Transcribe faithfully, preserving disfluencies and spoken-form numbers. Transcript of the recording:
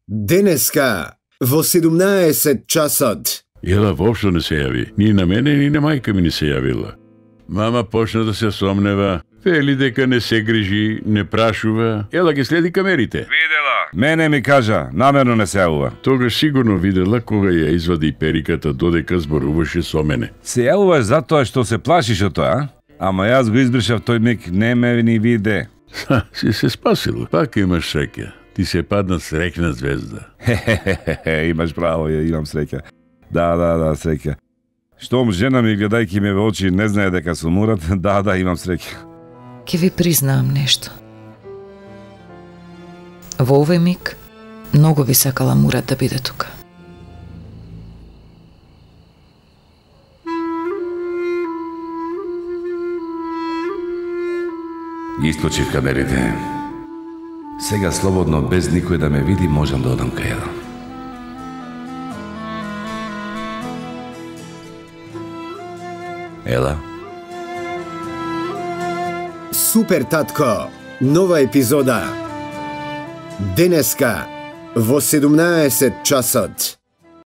Денеска во седумнаесет часот. Ела воопшто не се јави. Ни на мене, ни на мајка ми не се јавила. Мама почна да се сомнева, вели дека не се грижи, не прашува. Ела ги следи камерите. Видела. Мене ми кажа, намерно не се јавува. Тогаш сигурно видела кога ја извади периката додека зборуваше со мене. Се јавуваш затоа што се плашиш од тоа, а? Ама јас го избришав тој миг, не ме ни виде. Ха, си се спасила. Пак имаш среќа. Ти се падна среќна звезда. Хе-хе-хе, имаш право, ја имам среќа. Да, да, да, среќа. Штом жена ми гледајќи ме во очи не знае дека сум урад, да, да, имам среќа. Ке ви признаам нешто. Во овој миг, многу би сакала Мурат да биде тука. Ги исклучив камерите. Сега слободно, без никој да ме види, можам да одам кај Ела. Ела? Супер татко, нова епизода. Денеска во седумнаесет часот.